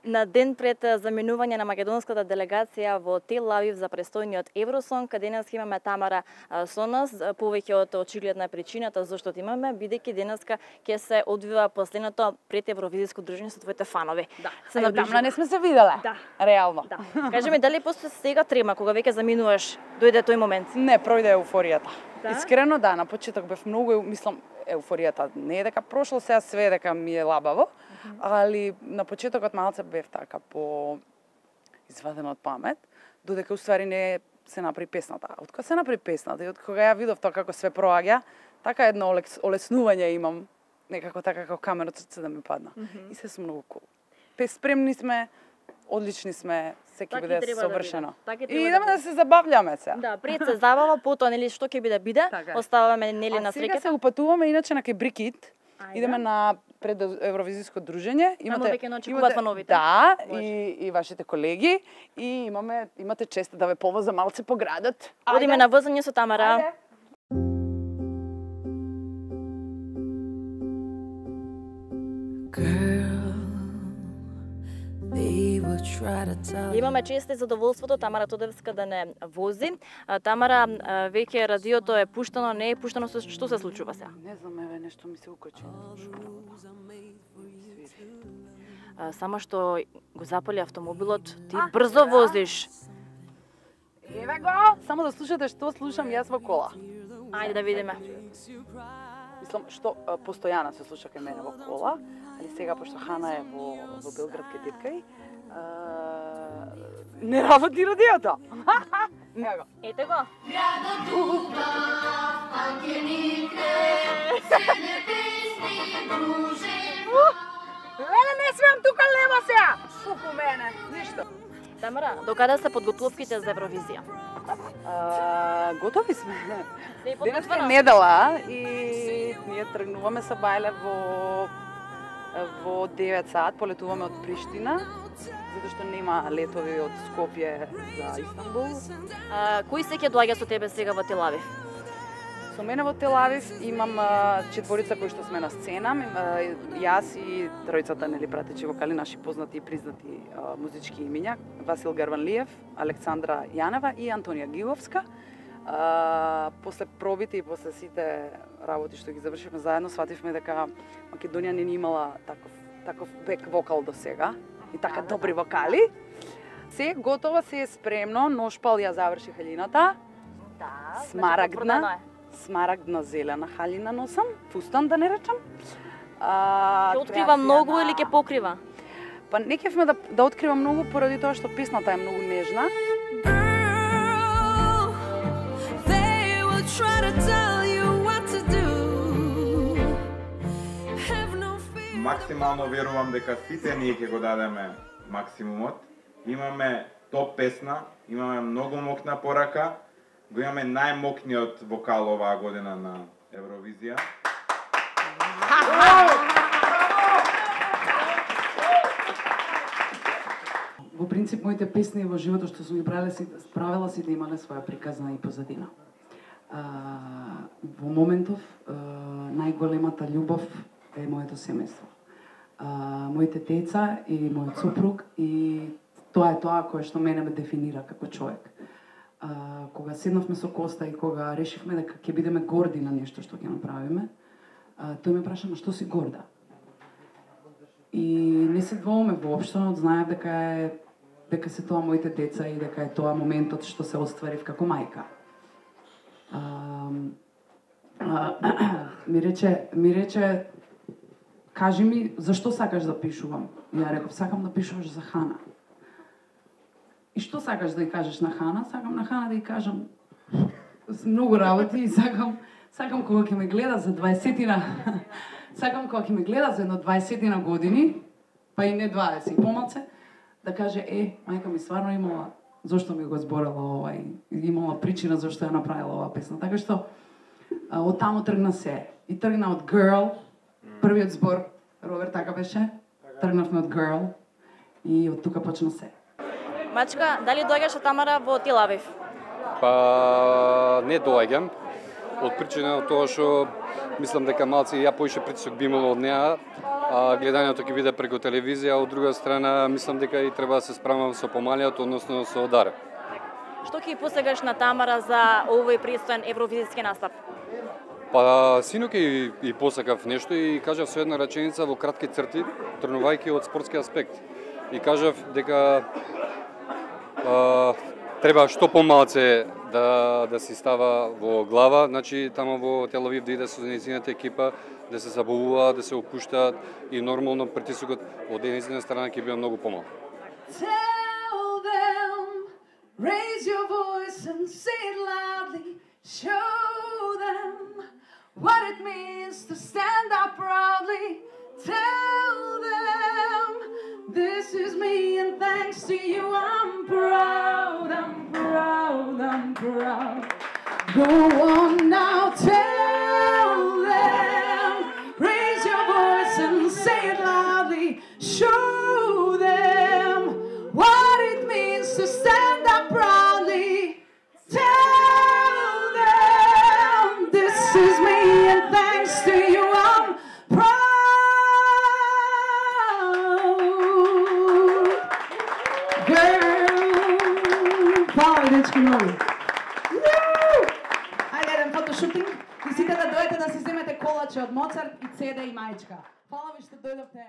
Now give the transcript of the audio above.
На ден пред заминување на македонската делегација во Тел Авив за престојниот Евросонг, денес имаме Тамара со нас. Повеќе од очигледна причината зашто имаме, бидејќи денеска ќе се одвива последното пред Евровизиско дружење со твоите фанови. Да. Се одамна не сме се виделе. Да. Реално. Да. Кажи ми, дали после сега трема кога веќе заминуваш, дојде тој момент? Не, пројде еуфоријата. Да? Искрено да, на почеток бев многу, мислам, еуфоријата не е дека прошло, сега све дека ми е лабаво, али на почетокот малце бев така по извадена од памет, додека уствари не се направи песната. Од кога се направи песната и од кога ја видов тоа како све проаѓа, така едно олеснување имам, некако така како камен од срце да ми падна. И се сум многу кул. Спремни сме, одлични сме, секи биде совршено. И идеме да се забавljаме сега. Да, пред се забава, потоа нели што ќе биде биде, оставаме нели на среќата. А сега се упатуваме иначе на Кебрикит. Идеме на пред Евровизиско дружење. Имате веќе очекуваат фановите. Да, и вашите колеги и имате чест да ве повозам малце по градот. Одиме на возење со Тамара. Имаме чест и задоволството Тамара Тодевска да не вози. Тамара, веќе радиото е пуштано, не е пуштано, што се случува сега? Не знам, еве нешто ми се укачи. Само што го запали автомобилот, ти брзо возиш. Еве го! Само да слушате што слушам јас во кола. Ајде да видиме. Мислам, што постојано се слуша кај мене во кола, али сега, пошто Хана е во Белград кај теткај, не работи радиото. Ево го. Ете го. Леле, не смеам тука лево сега! Супу мене, ништо. Тамара, докаде се подготовките за Евровизија? Готови сме. Денес е недела и ние тргнуваме со Бајле во 9 сат, полетуваме од Приштина, затоа што нема летови од Скопје за Истанбул. Кои се ќе доаѓа со тебе сега во Тел Авив? Со мене во Тел Авив имам четворица кои што сме на сцена, јас и тројцата нели пратечи вокали, наши познати и признати музички имиња, Васил Гарванлиев, Александра Јанева и Антонија Гиловска. После пробите и после сите работи што ги завршивме заедно, свативме дека Македонија не ни имала таков бек вокал до сега и така добри вокали. Се готово, се е спремно, Ношпал ја заврши халината. Да, Смарагдна зелена халина носам, фустан да не речам. Ќе открива многу или ќе покрива? Па не кефме да открива многу поради тоа што песната е многу нежна. Максимално верувам дека сите ние ќе го дадеме максимумот. Имаме топ песна, имаме многу мокна порака, го имаме најмокниот вокал оваа година на Евровизија. Во принцип, моите песни во животот што сум ги правила си да имале своја приказна и позадина. Во моментов, најголемата љубов е моето семејство. Моите деца и мојот супруг, и тоа е тоа кое што мене ме дефинира како човек. Кога седнавме со Коста и кога решивме дека ќе бидеме горди на нешто што ќе направиме, тој ме праша, што си горда? И не се двоуме воопшто, знаев дека се тоа моите деца и дека е тоа моментот што се остварив како мајка. Ми рече, кажи ми, зашто сакаш да пишувам? Ја реков, сакам да пишуваш за Хана. И што сакаш да ја кажеш на Хана? Сакам на Хана да ја кажам многу работи и сакам кога ќе ме гледа за 20-тина, сакам кога ќе ме гледа за едно 20-тина години, па и не 20, и помалце, да каже, мајка ми стварно имала, зошто ми го зборела ова и имала причина зашто ја направила оваа песна. Така што, од таму тргна се. И тргна од Girl, првиот збор, Роберт така беше, тргнавме од Girl и од тука почна се. Мачка, дали доаѓаш Тамара во Тел Авив? Па не доаѓам, од причина од тоа што мислам дека малце ја поише притисок би имало од неа, а гледањето ќе биде преку телевизија, а од друга страна мислам дека и треба да се справам со помалиот, односно со удар. Што ќе посегаш на Тамара за овој пристоен евровизиски настап? Па синоќ и посакав нешто и кажав со една реченица во кратки црти, тргнувајќи од спортски аспект. И кажав дека треба што помалце да си става во глава, значи тамо во Тел Авив да иде со нејзината екипа, да се забавуваат, да се опуштаат и нормално притисокот од нејзина страна ќе биде многу помал. Tell them, raise your voice and say it loudly, show them what it means to stand up proudly. Tell them, this is me and thanks to you I'm proud, I'm proud, I'm proud. Go on now, tell them, raise your voice and say it loudly, show them what it means to stand up proudly. Tell them, this is me and thanks to you I'm proud. Girl, hvala ви дечки многу. Ајде еден фотошутинг и сите да дојдете да си земете колаче од Моцарт и CD и мајчка. Фала ви што дојдовте.